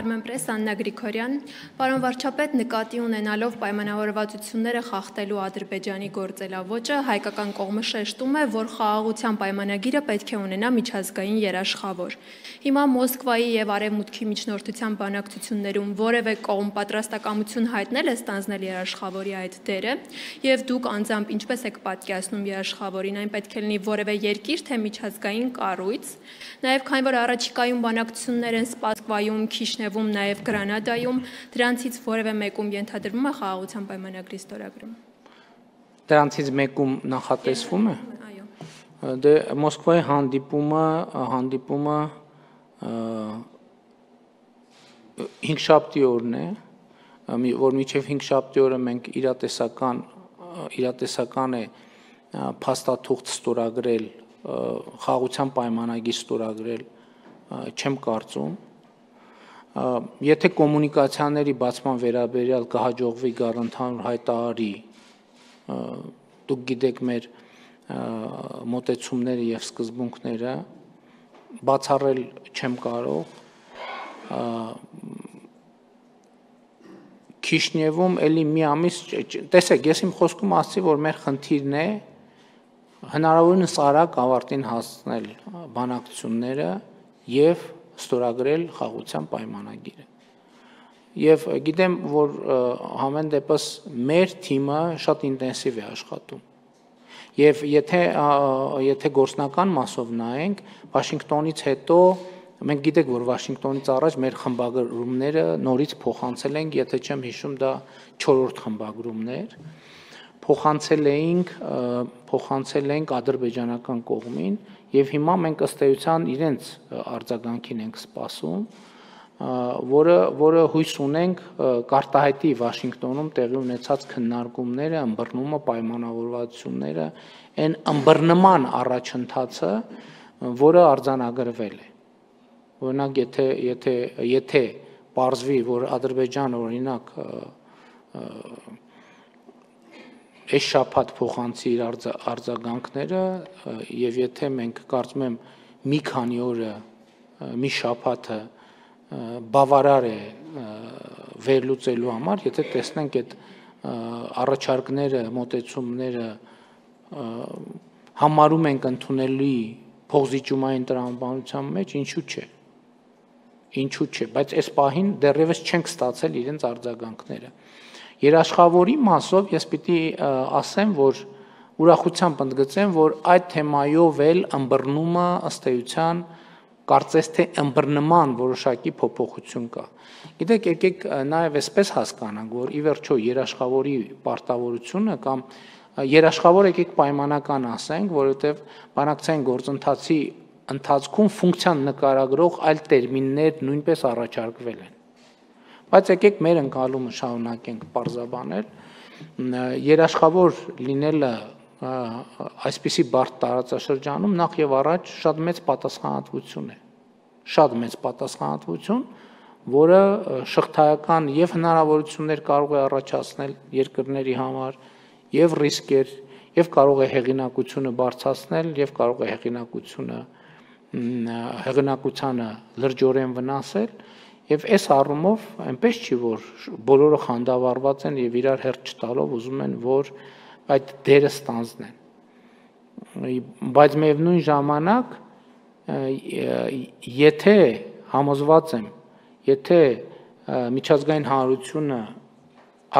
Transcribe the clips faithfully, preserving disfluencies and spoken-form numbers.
Armenpress Աննա Գրիգորյան, պարոն վարչապետ, նկատի ունենալով պայմանավորվածությունները խախտելու Ադրբեջանի գործելավոճը, հայկական կողմը շեշտում է, որ խաղաղության պայմանագիրը պետք է ունենա միջազգային երաշխավոր։ Հիմա Մոսկվայի եւ Արևմուտքի միջնորդության բանակցություններում որևէ կողմ պատրաստակամություն հայտնել է ստանձնել երաշխավորի այդ դերը, եւ դուք անձամբ ինչպես եք պատկերացնում երաշխավորին, այն պետք է լինի որևէ երկիր, թե միջազգային կառույց, նաեւ քանի որ առաջիկայում բանակցություններ են Սպասկվայում, Քիշնևում, նաև Գրանադայում, դրանցից որևէ մեկում ենթադրվում է խաղաղության պայմանագրի ստորագրում։ Դրանցից մեկում նախատեսվում է։ Այո։ Դե Մոսկվայի հանդիպումը, հանդիպումը հինգշաբթի օրն է, որ մինչև հինգշաբթի օրը մենք իրատեսական իրատեսական է փաստաթուղթ ստորագրել, խաղաղության պայմանագիր ստորագրել չեմ կարծում։ Եթե կոմունիկացիաների բացման վերաբերյալ կհաջողվի գալ ընդհանուր հայտարարի, դուք գիտեք մեր մոտեցումները եւ սկզբունքները, բացառել չեմ կարող։ Քիշնևում էլի մի ամիս, տեսեք, ես իմ խոսքում ասացի, որ մեր խնդիրն է հնարավորինս արագ ավարտին հասցնել բանակցությունները եւ ստորագրել խաղաղության պայմանագիրը։ Եվ գիտեմ, որ համեն դեպս մեր թիմը շատ ինտենսիվ է աշխատում։ Եվ եթե եթե գործնական մասով նայենք, Վաշինգտոնից հետո մենք գիտենք, որ Վաշինգտոնից առաջ մեր խմբագրումները նորից փոխանցել ենք, եթե չեմ հիշում, դա չորրորդ խմբագրումն էր, փոխանցել էինք, փոխանցել ենք ադրբեջանական կողմին, եւ հիմա մենք ըստ էության իրենց արձագանքին ենք սպասում, որը որը հույս ունենք կարտահայտի Վաշինգտոնում տեղի ունեցած քննարկումները, ըմբռնումը, պայմանավորվածությունները, այն ըմբռնման առաջընթացը, որը արձանագրվել է։ Օրինակ, եթե եթե եթե պարզվի, որ Ադրբեջանը օրինակ այս շաբաթ փոխանցի իր արձագանքները եւ եթե մենք կարծում եմ մի քանի օրը, մի շաբաթը բավարար է վերլուծելու համար, եթե տեսնենք այդ առաջարկները, մոտեցումները համարում ենք ընդունելի փոխզիջումային տրամաբանության մեջ, ինչու՞ չէ։ Ինչու՞ չէ, բայց այս պահին դեռևս չենք ստացել իրենց արձագանքները։ Երաշխավորի մասով ես պիտի ասեմ, որ ուրախությամբ ընդգծեմ, որ այդ թեմայով էլ ըմբռնումը ըստ էության կարծես թե ըմբռնման որոշակի փոփոխություն կա։ Գիտեք, եկեք նաև այսպես հասկանանք, որ ի վերջո երաշխավորի պարտավորությունը կամ երաշխավոր եկեք պայմանական ասենք, որովհետև բանակցային գործընթացի ընթացքում ֆունկցիան նկարագրող այլ տերմիններ նույնպես առաջարկվել են։ Բայց եկեք մեր ընկալումը շարունակենք պարզաբանել, երաշխավոր լինելը այսպիսի բարդ տարածաշրջանում նախ եւ առաջ շատ մեծ պատասխանատվություն է, շատ մեծ պատասխանատվություն, որը շղթայական եւ հնարավորություններ կարող է առաջացնել երկրների համար, եւ ռիսկեր, եւ կարող է հեղինակությունը բարձրացնել, եւ կարող է հեղինակությունը հեղինակությանը լրջորեն վնասել, եւ այս առումով այնպես չի, որ բոլորը խանդավառված են եւ իրար հերթ չտալով ուզում են, որ այդ դերը ստանձնեն։ Բայց միևնույն ժամանակ, եթե համոզված եմ, եթե միջազգային հանրությունը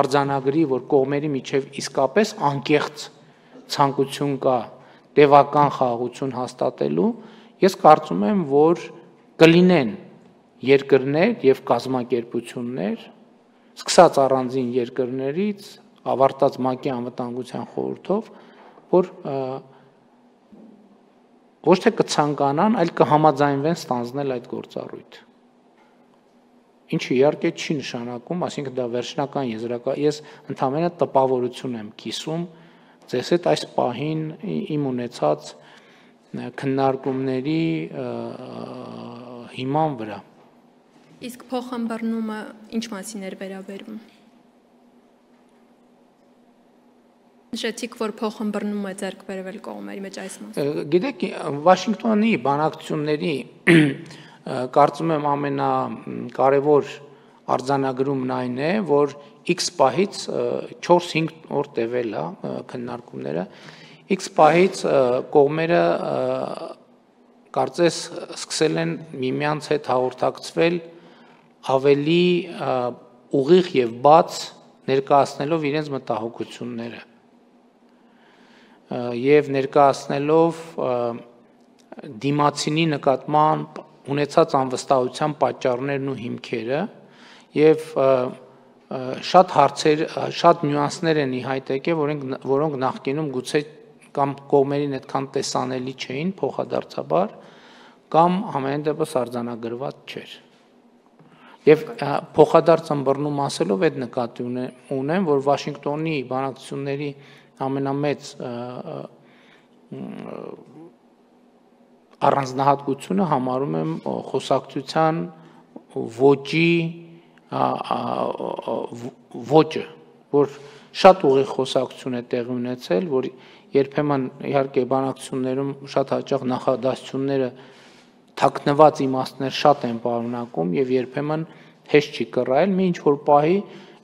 արձանագրի, որ կողմերի միջև իսկապես անկեղծ ցանկություն կա տևական խաղաղություն հաստատելու, ես կարծում եմ, որ կլինեն երկրներ եւ կազմակերպություններ, սկսած առանձին երկրներից, ավարտած ՄԱԿ-ի անվտանգության խորհրդով, որ ոչ թե կցանկանան, այլ կհամաձայնվեն ստանձնել այդ գործառույթը։ Ինչը իհարկե չի նշանակում, այսինքն դա վերջնական եզրակա, ես ընդհանրապես տպավորություն եմ կիսում ձեզ հետ այս պահին իմ ունեցած քննարկումների հիման վրա։ Իսկ փոխըմբռնումը ինչ մասին էր վերաբերում։ Նշեցիք, որ փոխըմբռնում է ձեռք բերվել կողմերի մեջ այս մասը։ Գիտեք, Վաշինգտոնի բանակցությունների կարծում եմ ամենակարևոր արձանագրումն այն է, որ X պահից չորս-հինգ օր տևել է քննարկումները, X պահից կողմերը կարծես սկսել են միմյանց հետ հաղորդակցվել ավելի ուղիղ եւ բաց ներկայացնելով իրենց մտահոգությունները եւ ներկայացնելով դիմացինի նկատմամբ ունեցած անվստահության պատճառներն ու հիմքերը եւ շատ հարցեր, շատ նյուանսներ են ի հայտ եկել, որոնք որոնք նախկինում գուցե կամ կողմերին այդքան տեսանելի չէին փոխադարձաբար կամ ամեն դեպս արձանագրված չէր։ Եվ փոխադարձ ըմբռնում ասելով այդ նկատի ունեմ, որ Վաշինգտոնի բանակցությունների ամենամեծ առանձնահատկությունը համարում եմ խոսակցության ոճի ոճը, որ շատ ուղիղ խոսակցություն է տեղի ունեցել, որ երբեմն իհարկե բանակցություններում շատ հաճախ նախադասությունները թաքնված իմաստներ շատ են պարունակում եւ երբեմն հեշտ չի կռահել, մի ինչ որ պահի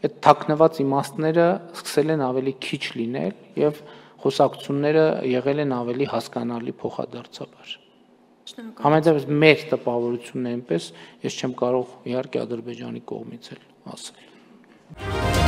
այդ թաքնված իմաստները սկսել են ավելի քիչ լինել եւ խոսակցությունները եղել են ավելի հասկանալի փոխադարձաբար։ Համենայնիվ մեր տպավորությունն է այնպես, ես չեմ կարող իհարկե Ադրբեջանի կողմից էլ ասել։